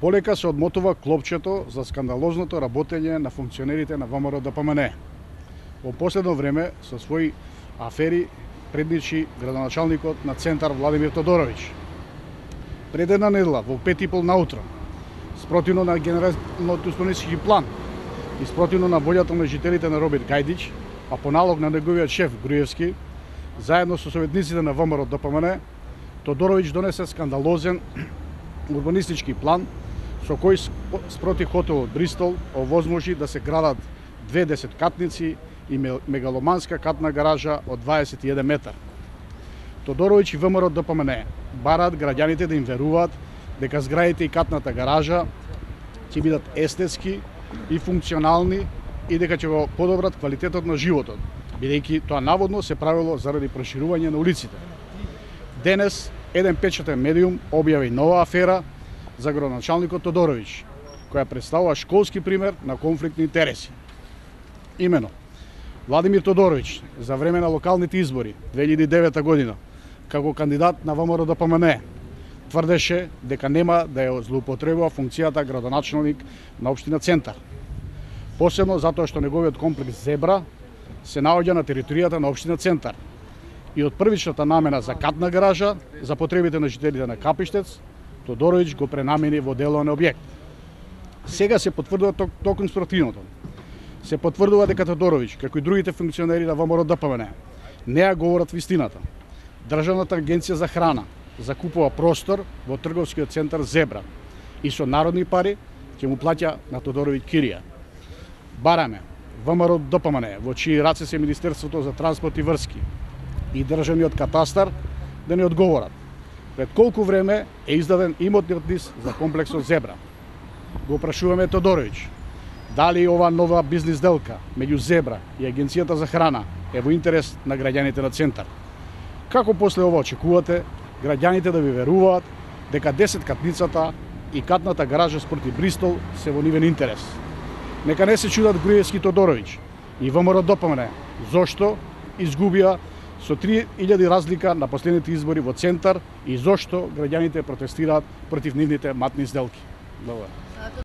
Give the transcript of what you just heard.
Полека се одмотува клопчето за скандалозното работење на функционерите на ВМРО ДПМН. Во последно време со своји афери предничи градоначалникот на Центар Владимир Тодоровиќ. Пред една недела во 5:30 наутро, спротивно на генералниот урбанистички план и спротивно на волјата на жителите на Роберт Гајдич, а по налог на неговиот шеф Груевски, заедно со советниците на ВМРО ДПМН, Тодоровиќ донесе скандалозен урбанистички план со кој спроти хотелот Бристол овозможи да се градат 2 десеткатници и мегаломанска катна гаража од 21 метар. Тодоровиќ и ВМРО ДПМН бараат граѓаните да им веруваат дека зградите и катната гаража ќе бидат естетски и функционални и дека ќе го подобрат квалитетот на животот, бидејќи тоа наводно се правило заради проширување на улиците. Денес еден печатен медиум објави нова афера за градоначалникот Тодоровиќ, која представува школски пример на конфликт на интереси. Имено, Владимир Тодоровиќ за време на локалните избори 2009 година, како кандидат на ВМРО ДПМН, тврдеше дека нема да ја злоупотребува функцијата градоначалник на општина Центар. Посебно затоа што неговиот комплекс Зебра се наоѓа на територијата на општина Центар и од првичната намена за катна гаража за потребите на жителите на Капиштец, Тодоровиќ го пренамени во деловен објект. Сега се потврдува токму спротивното. Се потврдува дека Тодоровиќ, како и другите функционери на ВМРО ДПМН, не ја говорат вистината. Државната агенција за храна закупува простор во трговскиот центар Зебра и со народни пари ќе му плаќа на Тодоровиќ кирија. Бараме ВМРО ДПМН, во чии раце се Министерството за транспорт и врски и државниот катастар, да ни одговорат пред колку време е издаден имотниот лист за комплексот Зебра. Го прашуваме Тодоровиќ дали ова нова бизнис делка меѓу Зебра и Агенцијата за храна е во интерес на граѓаните на Центар. Како после ова очекувате граѓаните да ви веруваат дека 10-катницата и катната гаража спроти Бристол се во нивен интерес? Нека не се чудат Груевски и Тодоровиќ и ВМРО ДПМН зошто изгубија со 3000 разлика на последните избори во Центар и зошто граѓаните протестираат против нивните матни сделки. Благодарам.